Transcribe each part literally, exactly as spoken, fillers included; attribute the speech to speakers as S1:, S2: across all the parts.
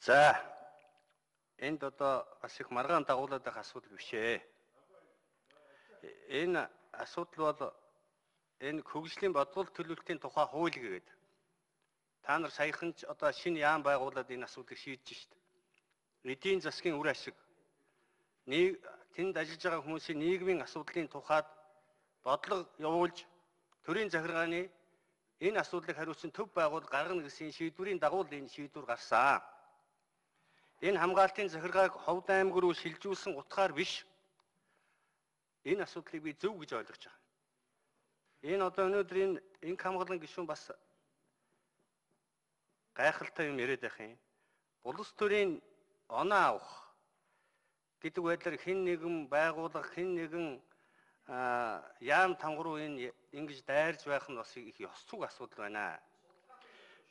S1: За энд одоо бас их маргаан дагуулдаг асуудал биш ээ. Энэ асуудал бол энэ хөгжлийн бодлого төлөвлөлтийн тухай хууль гэдэг. Та нар саяхан ч одоо шинэ яам байгуулад энэ асуудлыг шийдэж шít. Эдийн засгийн үр ашиг нэг тэнд ажиллаж байгаа хүмүүсийн нийгмийн асуудлын тухайд бодлого явуулж төрийн захиргааны энэ асуудлыг хариуцсан төв байгуул гаргана гэсэн шийдвэрийн дагуу энэ шийдвэр гарсан. Энэ хамгаалтын захиргааг Ховд аймаг руу шилжүүлсэн утгаар биш. Энэ асуудлыг би зөв гэж ойлгож байгаа. Энэ одоо өнөөдөр энэ инх хамгаалан гишүүн бас гайхалтай юм яриад байх юм. Улс төрийн оноо авах гэдэг байдлаар хэн нэгэн байгууллага, хэн нэгэн яам тангруу энэ ингэж дайрж байх нь бас их ёс зүг асуудал байна.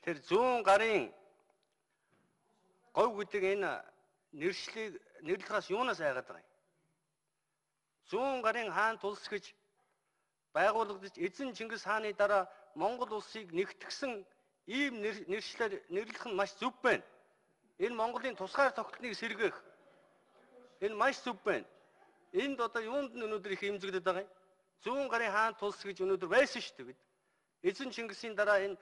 S1: Тэр зүүн гарын говь гэдэг энэ нэршлиг нэрлэхээс юунаас айгаад байгаа юм? Зүүн гарын хаан тулс гэж байгуулагдаж эзэн Чингис хааны дараа Монгол улсыг нэгтгсэн ийм нэршлэр нэрлэх нь маш зөв байна. Энэ Монголын тусгаар тогтныг сэргээх энэ маш зөв байна. Энд одоо юунд нь өнөөдөр их имзэгдэж байгаа юм? Зүүн гарын хаан тулс гэж өнөөдөр байсан шүү дээ. Эзэн Чингисийн дараа энэ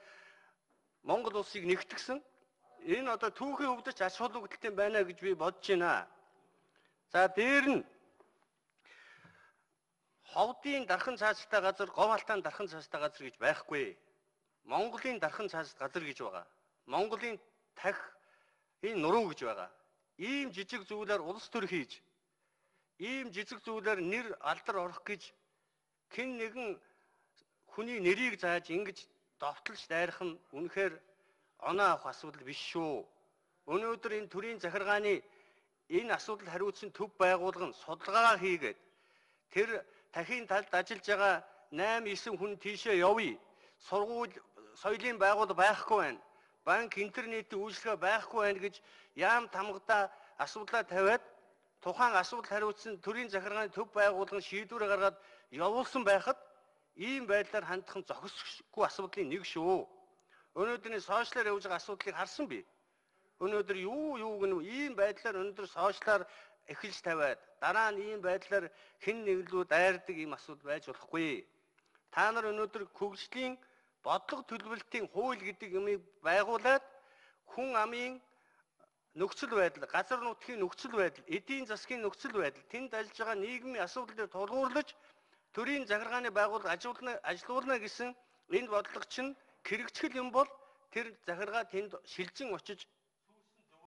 S1: Монгол улсыг нэгтгсэн энэ одоо түүхийн өвдөж ач холбогдолтой байна гэж би бодож байна. За дээр нь Ховдын дархан цааштай газар, Говьалтаан дархан цааштай газар гэж байхгүй. Монголын дархан цааштай газар гэж байгаа. Монголын тах энэ нуруу гэж байгаа. Ийм жижиг зүйлээр улс төр хийж, ийм жижиг зүйлээр нэр алдар орох гэж хэн нэгэн хүний нэрийг зааж ингэж довтлж дайрах нь үнэхээр оноо авах асуудал биш шүү. Өнөөдөр энэ төрийн захиргааны энэ асуудал хариуцсан төв байгуулга нь судалгаа хийгээд тэр тахын талд ажиллаж байгаа найм эсэм хүн тийшээ явъя. Сургууль, соёлын байгууллага байхгүй байна. Банк, интернетийн үйлчилгээ байхгүй байна гэж яам тамгадаа асуудлаа тавиад тухайн асуудал хариуцсан төрийн захиргааны төв байгууллагын шийдвэр гаргаад явуулсан байхад ийм байдлаар хандах нь зохисгүй асуудлын нэг шүү. Өнөөдрийн сошиалар явж байгаа асуудлыг харсан би. Өнөөдөр юу юуг нь ийм байдлаар өнөөдөр сошиалар эхэлж тавиад дараа нь ийм байдлаар хэн нэглүү дайрдаг ийм асуудал байж болохгүй. Та нар өнөөдөр хөгжлийн бодлого төлөвлөлтийн хууль гэдэг юмыг байгуулад хүн амын нөхцөл байдал, газар нутгийн нөхцөл байдал, эдийн засгийн нөхцөл байдал, тэнд ажиллаж байгаа нийгмийн асуудлыг тулгуурлаж төрийн захиргааны байгууллага ажилуулна ажилуулна гэсэн энэ бодлого чинь хэрэгжил юм бол тэр захиргаа тэнд шилжин очиж